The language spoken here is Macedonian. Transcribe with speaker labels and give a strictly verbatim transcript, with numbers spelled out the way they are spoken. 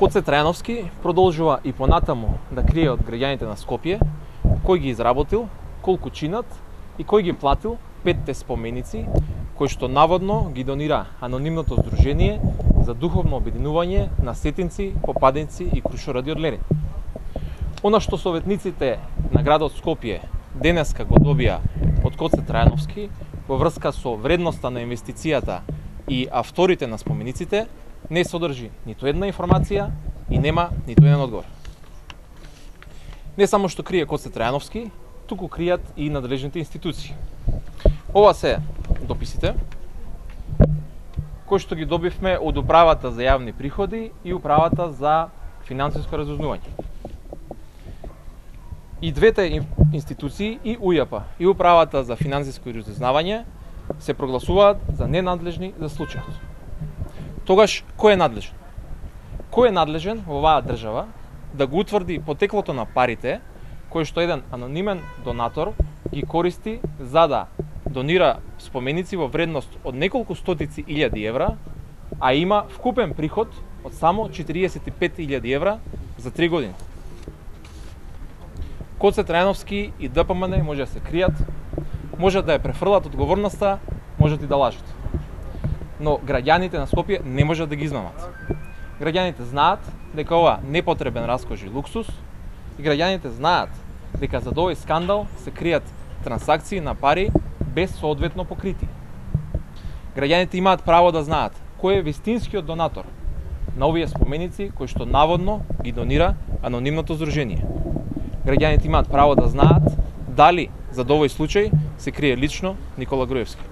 Speaker 1: Коце Трајановски продолжува и понатаму да крие од граѓаните на Скопје кој ги изработил, колку чинат и кој ги платил петте споменици кои што наводно ги донира анонимното здружение за духовно обединување на сетинци, попаденци и крушоради од Лерин. Она што советниците на градот Скопје денеска го добија од Коце Трајановски во врска со вредноста на инвестицијата и авторите на спомениците не содржи ниту една информација и нема ниту еден одговор. Не само што крие Коце Трајановски, туку кријат и надлежните институции. Ова се дописите кои што ги добивме од Управата за јавни приходи и Управата за финансиско разузнавање. И двете институции, и УЈАП и Управата за финансиско разузнавање, се прогласуваат за ненадлежни за случајот. Тогаш, кој е надлежен? Кој е надлежен во оваа држава да го утврди потеклото на парите кои што еден анонимен донатор ги користи за да донира споменици во вредност од неколку стотици илјади евра, а има вкупен приход од само четириесет и пет илјади евра за три години. Коце Трајановски и ДПМН може да се кријат, може да ја префрлат одговорноста, можат и да лажат. Но граѓаните на Скопје не можат да ги измамат. Граѓаните знаат дека ова непотребен раскош и луксус и граѓаните знаат дека за овој скандал се кријат трансакции на пари без соодветно покритие. Граѓаните имаат право да знаат кој е вистинскиот донатор на овие споменици кои што наводно ги донира анонимното здружение. Граѓаните имаат право да знаат дали за овој случај се крие лично Никола Груевски.